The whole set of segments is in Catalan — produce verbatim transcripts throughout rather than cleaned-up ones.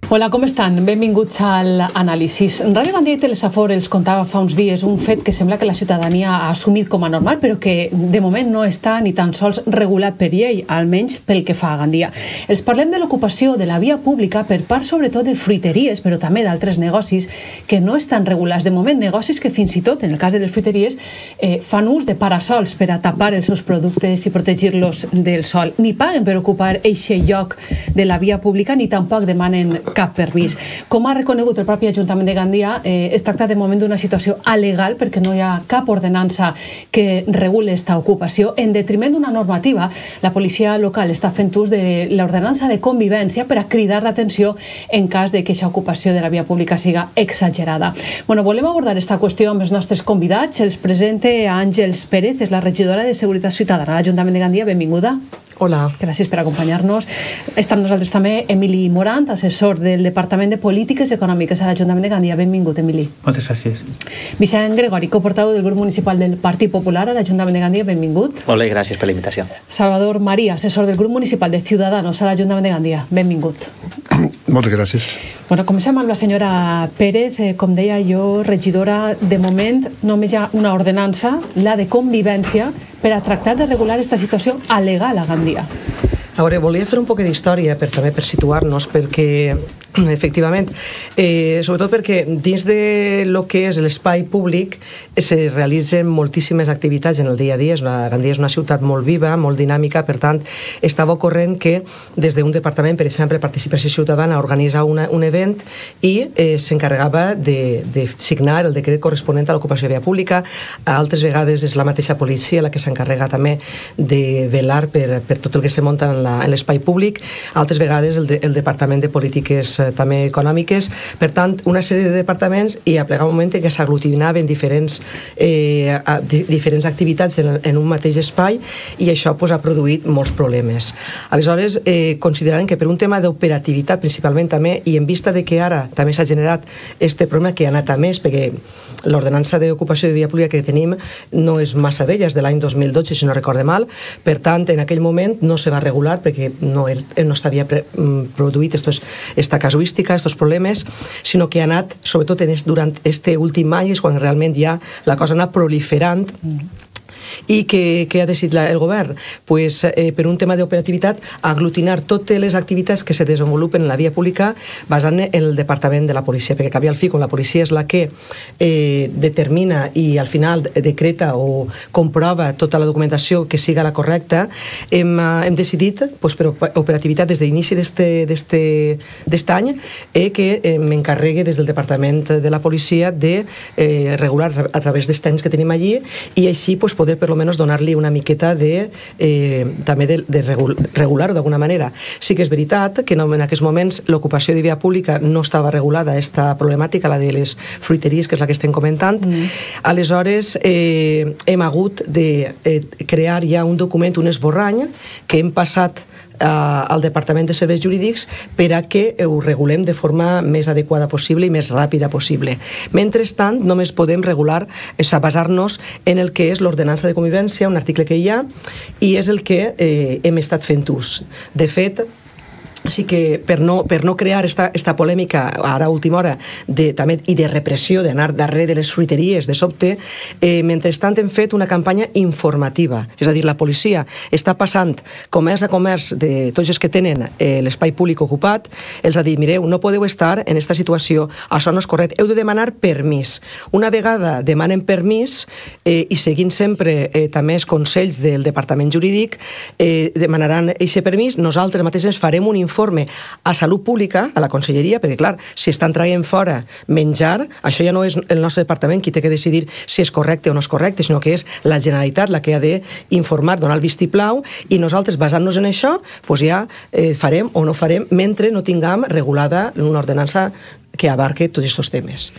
Hola, com estan? Benvinguts al Anàlisis. Ràdio Gandia i Telesafor els contava fa uns dies un fet que sembla que la ciutadania ha assumit com a normal, però que de moment no està ni tan sols regulat per llei, almenys pel que fa a Gandia. Els parlem de l'ocupació de la via pública per part sobretot de fruiteries, però també d'altres negocis que no estan regulats. De moment, negocis que fins i tot, en el cas de les fruiteries, eh, fan ús de parasols per a tapar els seus productes i protegir-los del sol. Ni paguen per ocupar eixe lloc de la via pública, ni tampoc demanen cap permís. Com ha reconegut el propi Ajuntament de Gandia, eh, es tracta de moment d'una situació alegal perquè no hi ha cap ordenança que regule esta ocupació. En detriment d'una normativa, la policia local està fent ús de l'ordenança de convivència per a cridar l'atenció en cas de que aquesta ocupació de la via pública siga exagerada. Bueno, volem abordar esta qüestió amb els nostres convidats. Els presente a Àngels Pérez, és la regidora de Seguretat Ciutadana a l'Ajuntament de Gandia. Benvinguda. Hola. Gràcies per acompanyar-nos. Està amb nosaltres també Emili Morant, assessor del Departament de Polítiques Econòmiques a l'Ajuntament de Gandia. Benvingut, Emili. Moltes gràcies. Vicent Gregori, coportaveu del grup municipal del Partit Popular a l'Ajuntament de Gandia. Benvingut. Molt bé, gràcies per la invitació. Salvador María, assessor del grup municipal de Ciudadanos a l'Ajuntament de Gandia. Benvingut. Moltes gràcies. Bueno, comencem amb la senyora Pérez. Eh, com deia jo, regidora, de moment només hi ha una ordenança, la de convivència, per a tractar de regular aquesta situació alegal a Gandia. A veure, volia fer un poc d'història per, també per situar-nos, perquè efectivament, eh, sobretot perquè dins de lo que és l'espai públic se realitzen moltíssimes activitats en el dia a dia. Una, Gandia és una ciutat molt viva, molt dinàmica, per tant, estava ocorrent que des d'un departament, per exemple, Participació Ciutadana, organitza una, un event i eh, s'encarregava de, de signar el decret corresponent a l'ocupació de via pública. Altres vegades és la mateixa policia la que s'encarrega també de velar per, per tot el que se munta en l'espai públic. Altres vegades el, de, el Departament de Polítiques també econòmiques. Per tant, una sèrie de departaments i a plegar un moment en què s'aglutinaven diferents, eh, di, diferents activitats en, en un mateix espai i això pues, ha produït molts problemes. Aleshores, eh, considerant que per un tema d'operativitat principalment també, i en vista de que ara també s'ha generat este problema que ha anat a més, perquè l'ordenança d'ocupació de via pública que tenim no és massa vella, és de l'any dos mil dotze, si no recorde mal, per tant, en aquell moment no se va regular perquè no, no s'havia produït estos, esta casuística, estos problemes, sinó que ha anat, sobretot en est, durant este últim any, és quan realment ja la cosa ha anat proliferant. I què, què ha decidit la, el govern? Pues, eh, per un tema d'operativitat, aglutinar totes les activitats que se desenvolupen en la via pública basant en el departament de la policia, perquè cap i al fi, quan la policia és la que eh, determina i al final decreta o comprova tota la documentació que siga la correcta, hem, hem decidit, pues, per operativitat des d'inici d'aquest any, eh, que eh, m'encarregue des del departament de la policia de eh, regular a través dels temps que tenim allí i així pues, poder per almenys donar-li una miqueta de, eh, també de, de regular-ho d'alguna manera. Sí que és veritat que en aquests moments l'ocupació de via pública no estava regulada, aquesta problemàtica, la de les fruiteries, que és la que estem comentant. Mm. Aleshores, eh, hem hagut de eh, crear ja un document, un esborrany, que hem passat al Departament de Serveis Jurídics per a que ho regulem de forma més adequada possible i més ràpida possible. Mentrestant, només podem regular, és a basar-nos en el que és l'ordenança de convivència, un article que hi ha, i és el que eh, hem estat fent ús. De fet, Així que per no, per no crear esta, esta polèmica ara a última hora de, també, i de repressió, d'anar darrere de les fruiteries de sobte, eh, mentrestant hem fet una campanya informativa. És a dir, la policia està passant comerç a comerç de tots els que tenen eh, l'espai públic ocupat, els ha dit, mireu, no podeu estar en aquesta situació, això no és correcte, heu de demanar permís. Una vegada demanen permís eh, i seguint sempre eh, també els consells del Departament Jurídic, eh, demanaran aquest permís, nosaltres mateixes farem un informe informe a Salut Pública, a la Conselleria, perquè, clar, si estan traient fora menjar, això ja no és el nostre departament qui té que decidir si és correcte o no és correcte, sinó que és la Generalitat la que ha d'informar, donar el vistiplau, i nosaltres, basant-nos en això, doncs ja eh, farem o no farem mentre no tinguem regulada una ordenança que abarque tots aquests temes.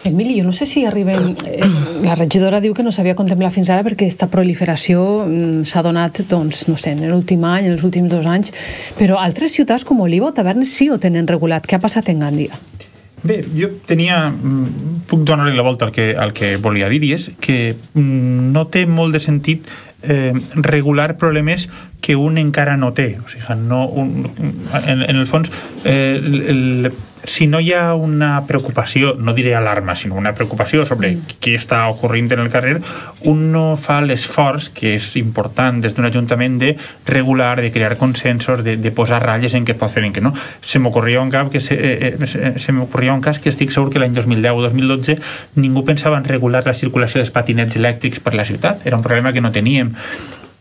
Emili, jo no sé si arribem... Eh, la regidora diu que no s'havia contemplat fins ara perquè aquesta proliferació s'ha donat, doncs, no sé, en l'últim any, en els últims dos anys, però altres ciutats com Oliva o Tavernes sí ho tenen regulat. Què ha passat en Gandia? Bé, jo tenia... Puc donar-li la volta al que, al que volia dir, i és que no té molt de sentit eh, regular problemes que un encara no té. O sigui, no, un, en, en el fons, eh, el, si no hi ha una preocupació, no diré alarma, sinó una preocupació sobre mm. què està ocorrint en el carrer, un no fa l'esforç, que és important des d'un ajuntament, de regular, de crear consensos, de, de posar ratlles en què pot fer en què no. Se m'ocorria un cap que se, eh, se, se m'ocorria un cas que estic segur que l'any dos mil deu o dos mil dotze ningú pensava en regular la circulació dels patinets elèctrics per la ciutat. Era un problema que no teníem.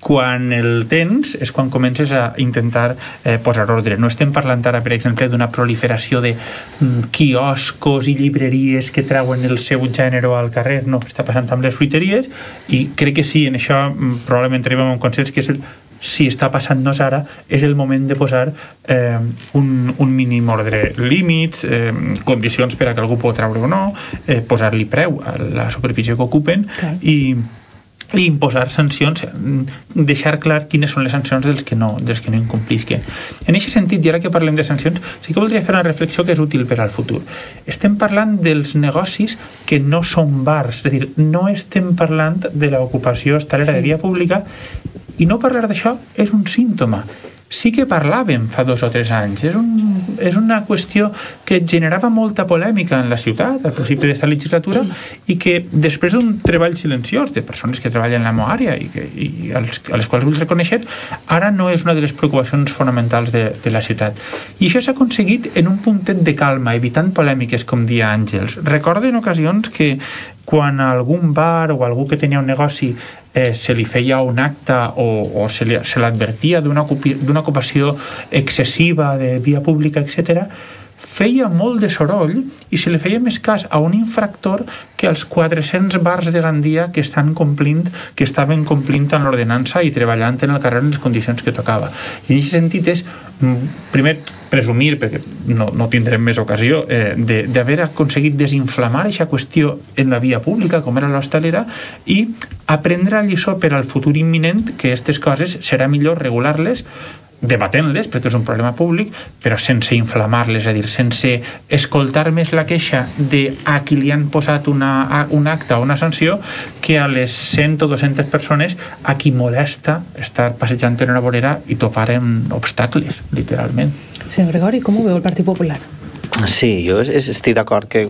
Quan el tens és quan comences a intentar eh, posar ordre. No estem parlant ara, per exemple, d'una proliferació de mm, quioscos i llibreries que treuen el seu gènere al carrer. No, està passant amb les fruiteries, i crec que sí, en això mm, probablement arribem a un consens, que és el, si està passant-nos ara, és el moment de posar eh, un, un mínim ordre, límits, eh, condicions per a que algú pot treure o no, eh, posar-li preu a la superfície que ocupen, okay. i i imposar sancions, deixar clar quines són les sancions dels que no, dels que no incomplisquen. En aquest sentit, i ara que parlem de sancions, sí que voldria fer una reflexió que és útil per al futur. Estem parlant dels negocis que no són bars, és a dir, no estem parlant de l'ocupació hostalera sí. de via pública, i no parlar d'això és un símptoma. Sí que parlàvem fa dos o tres anys. És, un, és una qüestió que generava molta polèmica en la ciutat al principi d'aquesta legislatura, i que després d'un treball silenciós de persones que treballen en la meva àrea i, que, i als, a les quals vull reconèixer, ara no és una de les preocupacions fonamentals de, de la ciutat. I això s'ha aconseguit en un puntet de calma, evitant polèmiques, com dia Àngels. Recordo en ocasions que quan algun bar o algú que tenia un negoci eh, se li feia un acte o, o se, li, se l'advertia d'una ocupació excessiva de via pública, etcètera, feia molt de soroll i se li feia més cas a un infractor que als quatre-cents bars de Gandia que estan complint, que estaven complint en l'ordenança i treballant en el carrer en les condicions que tocava. I en aquest sentit és, primer, presumir, perquè no, no tindrem més ocasió, eh, d'haver aconseguit desinflamar aquesta qüestió en la via pública, com era l'hostalera, i aprendre a lliçó per al futur imminent que aquestes coses serà millor regular-les, debatent-les, perquè és un problema públic, però sense inflamar-les, és a dir, sense escoltar més la queixa de a qui li han posat una, un acte o una sanció, que a les cent o dues-centes persones a qui molesta estar passejant en una vorera i topar amb obstacles, literalment. Senyor Gregori, com ho veu el Partit Popular? Sí, jo estic d'acord que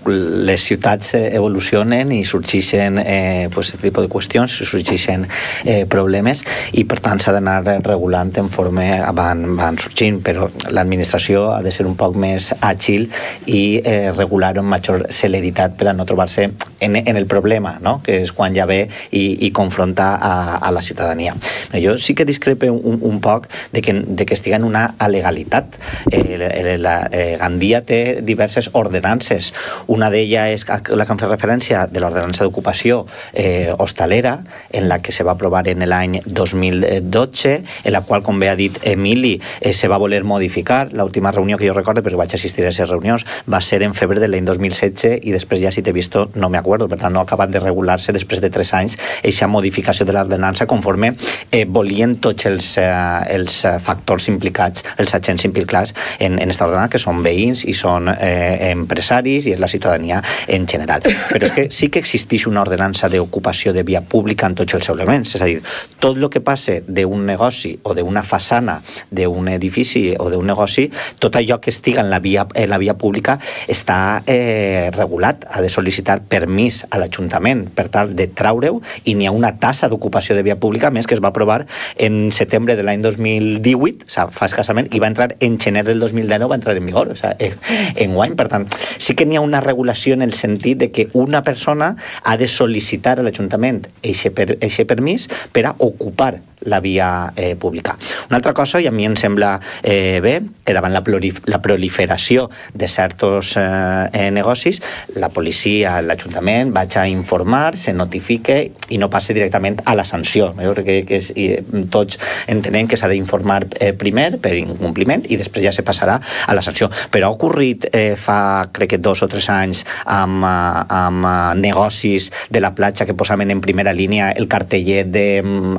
les ciutats evolucionen i sorgeixen eh, pues, aquest tipus de qüestions, sorgeixen eh, problemes, i per tant s'ha d'anar regulant en forma van, van sorgint, però l'administració ha de ser un poc més àgil i eh, regular-ho amb major celeritat per a no trobar-se en, en el problema, no? Que és quan ja ve i, i confronta a, a la ciutadania. Però jo sí que discrepe un, un poc de que, de que estiga en una alegalitat. Eh, la, eh, Gandia té diverses ordenances. Una d'ella és la que em fa referència de l'ordenança d'ocupació eh, hostalera, en la que se va aprovar en l'any dos mil dotze, en la qual, com bé ha dit Emili, eh, se va voler modificar. L'última reunió que jo recordo, perquè vaig assistir a aquestes reunions, va ser en febrer de l'any dos mil setze, i després ja, si t'he vist, no me acuerdo, per tant no ha acabat de regular-se després de tres anys aquesta modificació de l'ordenança conforme eh, volien tots els, eh, els factors implicats, els agents implicats en, en aquesta ordenança, que són veïns i són eh, empresaris i és la ciutadania en general. Però és que sí que existeix una ordenança d'ocupació de via pública en tots els elements, és a dir, tot el que passe d'un negoci o d'una façana d'un edifici o d'un negoci, tot allò que estiga en la via, en la via pública està eh, regulat, ha de sol·licitar permís a l'Ajuntament per tal de traure-ho, i n'hi ha una tassa d'ocupació de via pública més que es va aprovar en setembre de l'any dos mil divuit, o sigui, fa escassament, i va entrar en gener del dos mil dinou, va entrar en vigor, o sigui, en guany. Per tant, sí que n'hi ha una regulació en el sentit de que una persona ha de sol·licitar a l'Ajuntament eixe per, eixe permís per a ocupar la via eh, pública. Una altra cosa, i a mi em sembla eh, bé, que davant la, la proliferació de certs eh, negocis, la policia, l'Ajuntament, vaig a informar, se notifique i no passe directament a la sanció. Jo crec que, que és, i, tots entenem que s'ha d'informar eh, primer per incompliment i després ja se passarà a la sanció. Però ha ocorrit eh, fa, crec que dos o tres anys amb, amb negocis de la platja que posaven en primera línia el cartellet de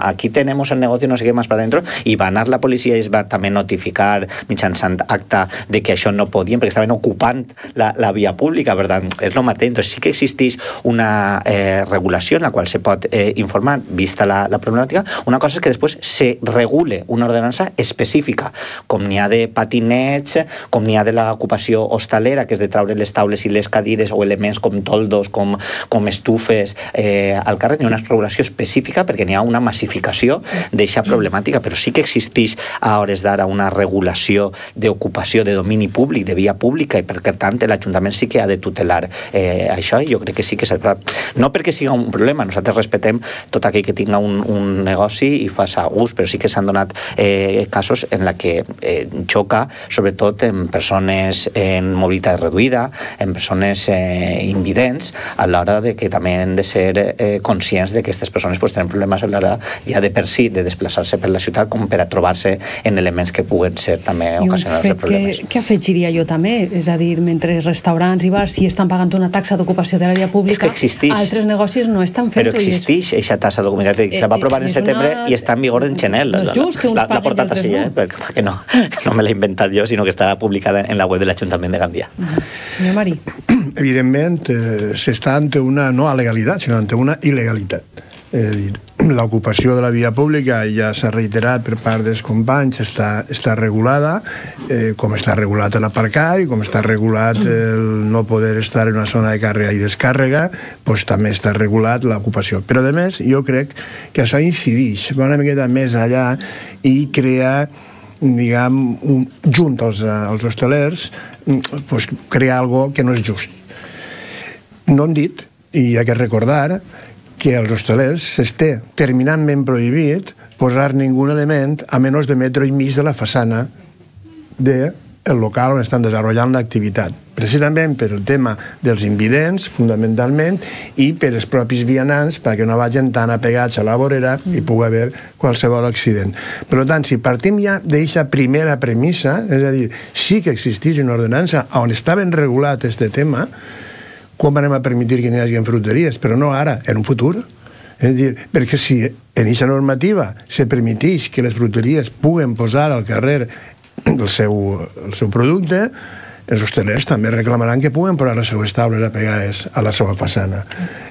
aquí tenemos cerramos el negocio, no sé què més per dentro, i va anar la policia i es va també notificar mitjançant acta de que això no podien, perquè estaven ocupant la, la via pública, per tant, és el mateix. Entonces, sí que existeix una eh, regulació en la qual se pot eh, informar, vista la, la problemàtica. Una cosa és que després se regule una ordenança específica, com n'hi ha de patinets, com n'hi ha de l'ocupació hostalera, que és de traure les taules i les cadires o elements com toldos, com, com estufes eh, al carrer. N'hi ha una regulació específica perquè n'hi ha una massificació d'eixa problemàtica, però sí que existeix a hores d'ara una regulació d'ocupació de domini públic, de via pública, i per tant l'Ajuntament sí que ha de tutelar eh, això, i jo crec que sí que s'ha de... No perquè sigui un problema, nosaltres respetem tot aquell que tinga un, un negoci i faça ús, però sí que s'han donat eh, casos en la que eh, xoca, sobretot en persones en mobilitat reduïda, en persones eh, invidents, a l'hora de que també hem de ser eh, conscients de que aquestes persones pues, tenen problemes a l'hora ja de per si, de desplaçar-se per la ciutat, com per a trobar-se en elements que puguen ser també ocasionals de problemes. I un fet que, que afegiria jo també, és a dir, mentre restaurants i bars sí estan pagant una taxa d'ocupació de l'àrea pública, altres negocis no estan fent-ho. Però existeix aquesta taxa d'ocupació, se va aprovar en setembre i està en vigor en gener. L'ha portat així, eh? perquè no, no me l'he inventat jo, sinó que està publicada en la web de l'Ajuntament de Gandia. Senyor Marí. Evidentment, eh, s'està ante una, no alegalitat, sinó ante una il·legalitat. És a dir, l'ocupació de la via pública ja s'ha reiterat per part dels companys, està, està regulada, eh, com està regulat l'aparcar i com està regulat el no poder estar en una zona de càrrega i descàrrega, doncs també està regulat l'ocupació. Però, a més, jo crec que això incideix, va una miqueta més allà i crea, diguem, un, junt als, als hostalers, doncs, crear algo que no és just. No hem dit, i hi ha que recordar, que als hostalers s'està terminantment prohibit posar ningú element a menys de metro i mig de la façana del local on estan desenvolupant l'activitat. Precisament per el tema dels invidents, fundamentalment, i per els propis vianants, perquè no vagin tan apegats a la vorera i pugui haver qualsevol accident. Per tant, si partim ja d'aquesta primera premissa, és a dir, sí que existeix una ordenança on està ben regulat aquest tema, com anem a permetir que n'hi hagi fruteries? Però no ara, en un futur. És a dir, perquè si en aquesta normativa se permeteix que les fruteries puguen posar al carrer el seu, el seu producte, els hostalers també reclamaran que puguen posar les seues taules apegades a la seva façana.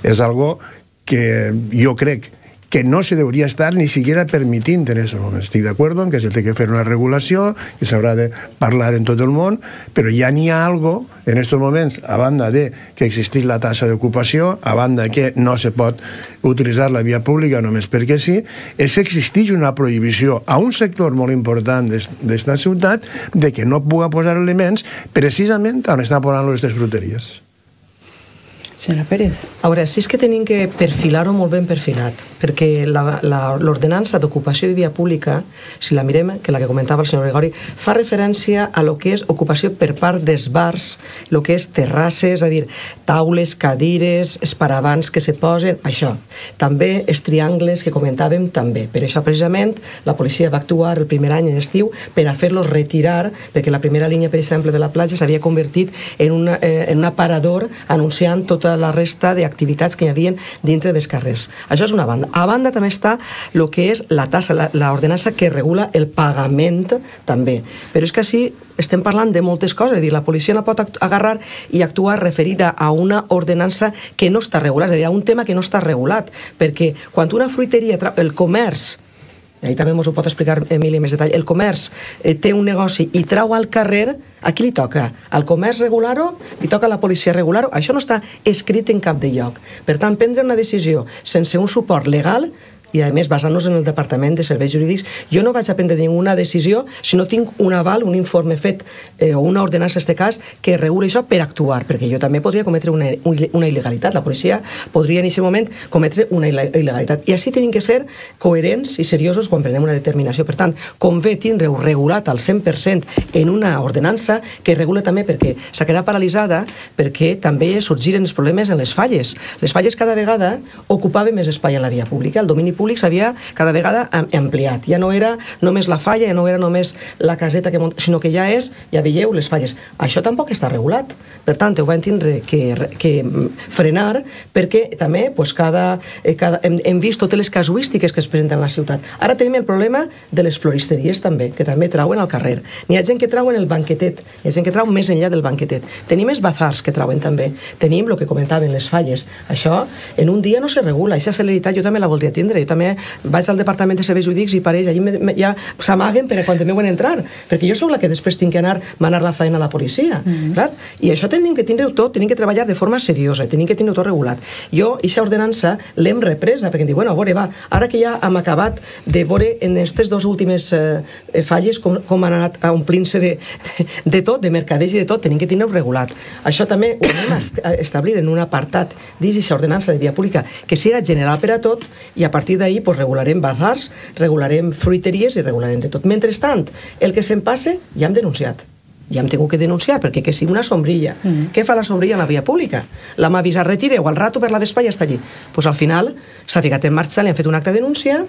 És algo que jo crec que no se debería estar ni siquiera permitint en eso. Estic d'acord en que se té que fer una regulació, que s'haurà de parlar en tot el món, però ja n'hi ha algo en aquests moments, a banda de que existeix la taxa d'ocupació, a banda que no se pot utilitzar la via pública només perquè sí, és que existeix una prohibició a un sector molt important d'esta ciutat de que no pugui posar elements precisament on estan posant les fruteries. Senyora Pérez. A veure, sí és que tenim que perfilar-ho molt ben perfilat, perquè l'ordenança d'ocupació de via pública, si la mirem, que la que comentava el senyor Gregori, fa referència a lo que és ocupació per part dels bars, lo que és terrasses, és a dir, taules, cadires, esparavants que se posen, això. També els triangles que comentàvem, també. Per això, precisament, la policia va actuar el primer any en estiu per a fer-los retirar, perquè la primera línia, per exemple, de la platja s'havia convertit en, una, eh, en un aparador anunciant tota la resta d'activitats que hi havia dintre dels carrers. Això és una banda. A banda també està el que és la tassa, l'ordenança que regula el pagament també. Però és que així estem parlant de moltes coses, és a dir, la policia no pot agarrar i actuar referida a una ordenança que no està regulada, és a dir, a un tema que no està regulat, perquè quan una fruiteria, el comerç, i ahí també ens ho pot explicar Emili més detall, el comerç eh, té un negoci i trau al carrer, a qui li toca? Al comerç regular-ho? Li toca a la policia regular-ho? Això no està escrit en cap de lloc. Per tant, prendre una decisió sense un suport legal, i a més basant-nos en el Departament de Serveis Jurídics, jo no vaig a prendre ninguna decisió si no tinc un aval, un informe fet eh, o una ordenança en aquest cas que regula això per actuar, perquè jo també podria cometre una, una il·legalitat, la policia podria en aquest moment cometre una il·legalitat, i així tenim que ser coherents i seriosos quan prenem una determinació. Per tant, convé tindre-ho regulat al cent per cent en una ordenança que regula també, perquè s'ha quedat paralitzada, perquè també sorgiren els problemes en les falles. Les falles cada vegada ocupaven més espai en la via pública, el domini públic s'havia cada vegada ampliat. Ja no era només la falla, ja no era només la caseta, que mont... sinó que ja és, ja veieu, les falles. Això tampoc està regulat. Per tant, ho vam tindre que, que frenar, perquè també pues, cada, cada, hem, hem vist totes les casuístiques que es presenten a la ciutat. Ara tenim el problema de les floristeries també, que també trauen al carrer. N'hi ha gent que trauen el banquetet, hi ha gent que trau més enllà del banquetet. Tenim els bazars que trauen també. Tenim el que comentaven, les falles. Això en un dia no se regula. Aquesta celeritat jo també la voldria tindre. Jo també vaig al departament de serveis jurídics i pareix, allà ja s'amaguen per a quan me veuen entrar, perquè jo sóc la que després tinc que anar manar la feina a la policia. Mm-hmm. Clar? I això tenim que tindre-ho tot, tenim que treballar de forma seriosa, tenim que tindre-ho tot regulat. Jo, aquesta ordenança, l'hem represa, perquè em diu, bueno, a veure, va, ara que ja hem acabat de veure en aquestes dues últimes eh, falles com, com han anat omplint-se de, de tot, de mercadeig i de tot, tenim que tindre-ho regulat. Això també ho anem a establir en un apartat dins aquesta ordenança de via pública que siga general per a tot, i a partir d'ahir pues, regularem bazars, regularem fruiteries i regularem de tot. Mentrestant, el que se'n passe ja hem denunciat. Ja hem tingut que denunciar, perquè que sigui una sombrilla. Mm. Què fa la sombrilla en la via pública? La m'ha avisat, retireu, al rato per la vespa ja està allí. Pues al final s'ha ficat en marxa, li han fet un acte de denúncia,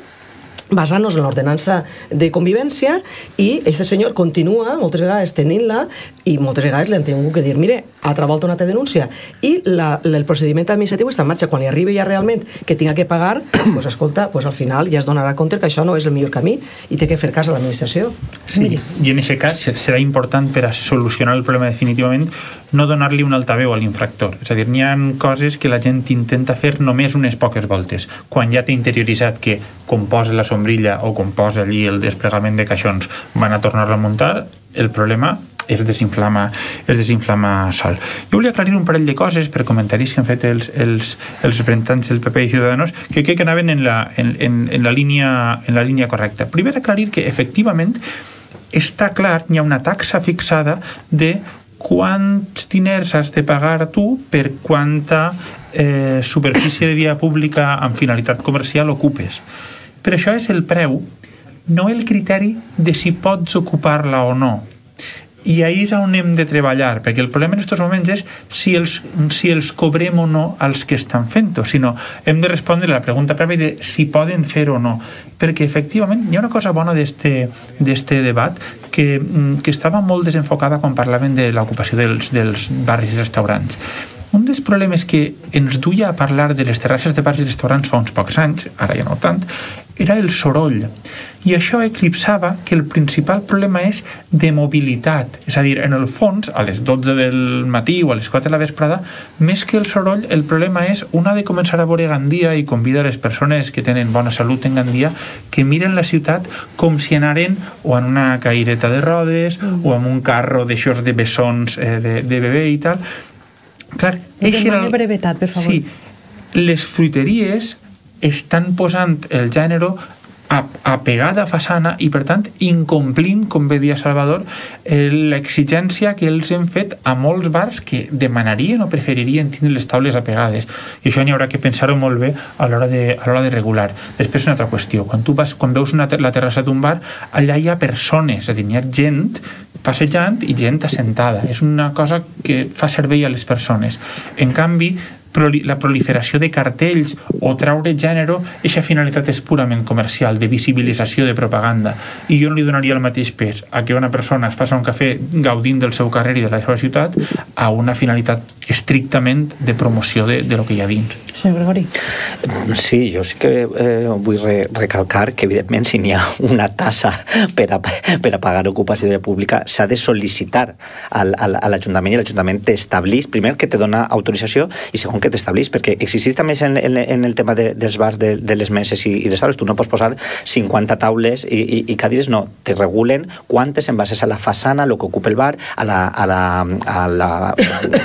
basant-nos en l'ordenança de convivència, i aquest senyor continua moltes vegades tenint-la, i moltes vegades li han tingut que dir, mire, altra volta una altra denúncia, i la, el procediment administratiu està en marxa. Quan li arribi ja realment que tinga que pagar, pues escolta, pues al final ja es donarà compte que això no és el millor camí i té que fer cas a l'administració. Sí, i en aquest cas serà important, per a solucionar el problema definitivament, no donar-li un altaveu a l'infractor. És a dir, n'hi ha coses que la gent intenta fer només unes poques voltes. Quan ja té interioritzat que com posa la sombrilla o com posa allí el desplegament de caixons van a tornar-la a muntar, el problema es desinflama, es desinflama sol. Jo volia aclarir un parell de coses per comentaris que han fet els, els, els representants del P P i Ciudadanos que crec que anaven en la, en, en, en la, línia, en la línia correcta. Primer, aclarir que efectivament està clar, hi ha una taxa fixada de quants diners has de pagar tu per quanta eh, superfície de via pública amb finalitat comercial ocupes. Però això és el preu, no el criteri de si pots ocupar-la o no. I ahí és on hem de treballar, perquè el problema en aquests moments és si els, si els cobrem o no als que estan fent-ho, sinó hem de respondre a la pregunta prèvia de si poden fer o no, perquè efectivament hi ha una cosa bona d'este debat que, que estava molt desenfocada quan parlaven de l'ocupació dels, dels barris i restaurants. Un dels problemes que ens duia a parlar de les terrasses de bars i restaurants fa uns pocs anys, ara ja no tant, era el soroll. I això eclipsava que el principal problema és de mobilitat. És a dir, en el fons, a les dotze del matí o a les quatre de la vesprada, més que el soroll, el problema és una de començar a veure Gandia i convida a les persones que tenen bona salut en Gandia que miren la ciutat com si anaren o en una caireta de rodes mm. o en un carro d'aixòs de bessons eh, de, de bebè i tal. Clar, demani brevetat, per favor. Sí, les fruiteries estan posant el gènere a, a pegada a façana i, per tant, incomplint, com bé dia Salvador, l'exigència que ells han fet a molts bars que demanarien o preferirien tenir les taules apegades. I això n'hi haurà que pensar-ho molt bé a l'hora de, a l'hora de regular. Després, una altra qüestió. Quan tu vas, quan veus una, la terrassa d'un bar, allà hi ha persones, és a dir, hi ha gent passejant i gent assentada. És una cosa que fa servei a les persones. En canvi, la proliferació de cartells o traure gènere, aquesta finalitat és purament comercial, de visibilització, de propaganda, i jo no li donaria el mateix pes a que una persona es passa un cafè gaudint del seu carrer i de la seva ciutat a una finalitat estrictament de promoció de, de lo que hi ha dins. Senyor Gregori. Sí, jo sí que eh, vull re recalcar que evidentment si n'hi ha una tassa per a, per a pagar ocupació de pública s'ha de sol·licitar al, al, a l'Ajuntament, i l'Ajuntament t'establís, primer que te dona autorització i segon que t'establís, perquè existeix també en, en, en el tema de, dels bars de, de les meses i, i les taules, tu no pots posar cinquanta taules i, i, i cadires, no, te regulen quantes en bases a la façana, el que ocupa el bar, a la, a la, a la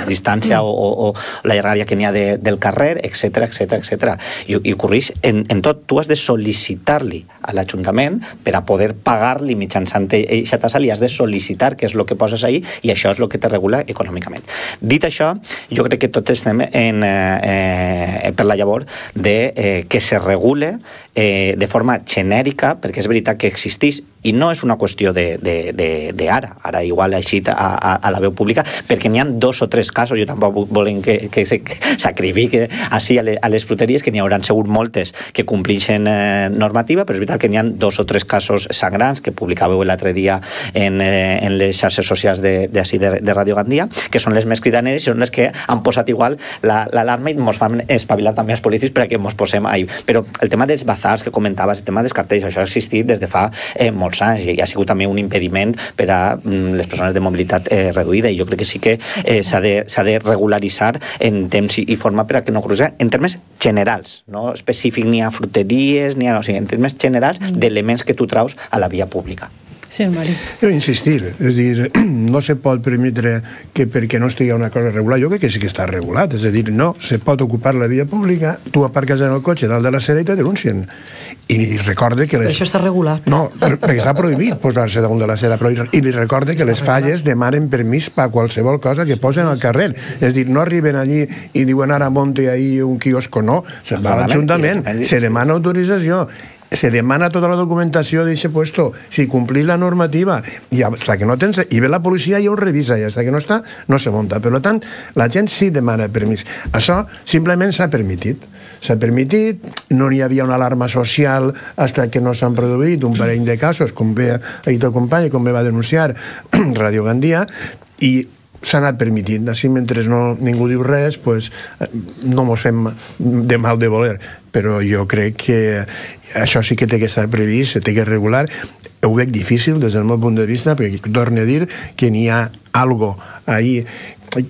distància o, o, o la llargària que n'hi ha de, del carrer, etcètera, etcètera, etcètera. I, i ocorreix en, en tot, tu has de sol·licitar-li a l'Ajuntament per a poder pagar-li mitjançant aquesta tassa, li has de sol·licitar què és el que poses ahí i això és el que te regula econòmicament. Dit això, jo crec que tots estem en, eh, per la llavor de eh, que se regule eh, de forma genèrica, perquè és veritat que existeix i no és una qüestió d'ara, ara igual així a, a, a la veu pública, perquè n'hi ha dos o tres casos, jo tampoc volem que, que sacrifique així a, le, a les fruteries, que n'hi hauran segur moltes que complixen eh, normativa, però és veritat que n'hi ha dos o tres casos sangrants que publicàveu l'altre dia en, eh, en les xarxes socials de, de, de, de Radio Gandia, que són les més cridaneres i són les que han posat igual l'alarma la, i ens fan espavilar també els polítics perquè ens posem ahí. Però el tema dels bazars que comentaves, el tema dels cartells, això ha existit des de fa eh, molts anys i ha sigut també un impediment per a mm, les persones de mobilitat eh, reduïda, i jo crec que sí que eh, s'ha de, s'ha de regularitzar en temps i, i forma per a que no cruci en termes generals, no específic ni a fruteries ni a, o sigui, en termes generals mm. d'elements que tu traus a la via pública. Sí, Mari. Jo insistir, és dir, no se pot permetre que perquè no estigui una cosa regulada, jo crec que sí que està regulat, és a dir, no, se pot ocupar la via pública, tu aparques en el cotxe dalt de la acera i te denuncien. I recorde que les... Això està regulat. No, perquè està prohibit posar-se damunt de l'acera, però i li recorde que les falles demanen permís per qualsevol cosa que posen al carrer. És dir, no arriben allí i diuen ara monte ahí un quiosco, no, se'n va a l'Ajuntament, se demana autorització, se demana tota la documentació d'aquest puesto, si complís la normativa, i hasta que no tens, i ve la policia i ho revisa, i hasta que no està, no se munta. Per tant, la gent sí demana permís. Això simplement s'ha permitit. S'ha permitit, no n'hi havia una alarma social hasta que no s'han produït un parell de casos, com bé ha dit el company, com bé va denunciar Radio Gandia, i s'ha anat permitint. Així, mentre no, ningú diu res, pues, no mos fem de mal de voler. Però jo crec que això sí que té que estar previst, té que regular. Ho veig difícil des del meu punt de vista, perquè torno a dir que n'hi ha algo ahí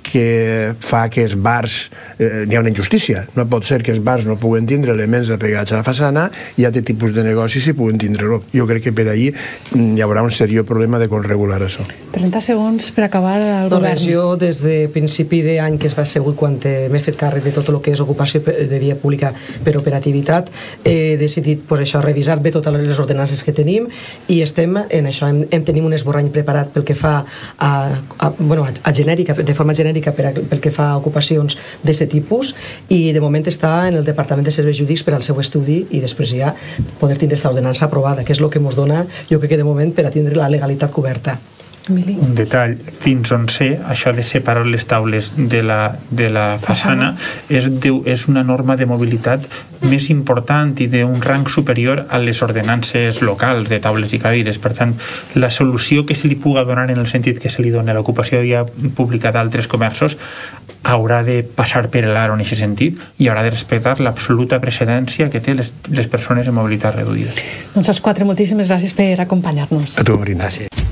que fa que els bars eh, n'hi ha una injustícia. No pot ser que els bars no puguen tindre elements apegats a la façana i altres tipus de negocis si puguen tindre-ho. Jo crec que per ahí hi haurà un seriós problema de com regular això. trenta segons per acabar el no, govern. Res, jo des de principi d'any que es va assegut quan m'he fet càrrec de tot el que és ocupació de via pública per operativitat, he decidit pues, això, revisar bé totes les ordenances que tenim i estem en això, hem, hem tenim un esborrany preparat pel que fa a, a, bueno, a, a genèrica, de forma genèrica per a, pel que fa a ocupacions d'aquest tipus, i de moment està en el Departament de Serveis Jurídics per al seu estudi i després ja poder tindre aquesta ordenança aprovada, que és el que ens dona, jo crec que de moment, per a tindre la legalitat coberta. Emili. Un detall, fins on sé, això de separar les taules de la, de la façana és, de, és una norma de mobilitat més important i d'un rang superior a les ordenances locals de taules i cadires. Per tant, la solució que se li puga donar en el sentit que se li dona l'ocupació de via pública d'altres comerços haurà de passar per l'aro en aquest sentit i haurà de respectar l'absoluta precedència que té les, les persones en mobilitat reduïda. Doncs els quatre, moltíssimes gràcies per acompanyar-nos. A tu, Marina. Gràcies.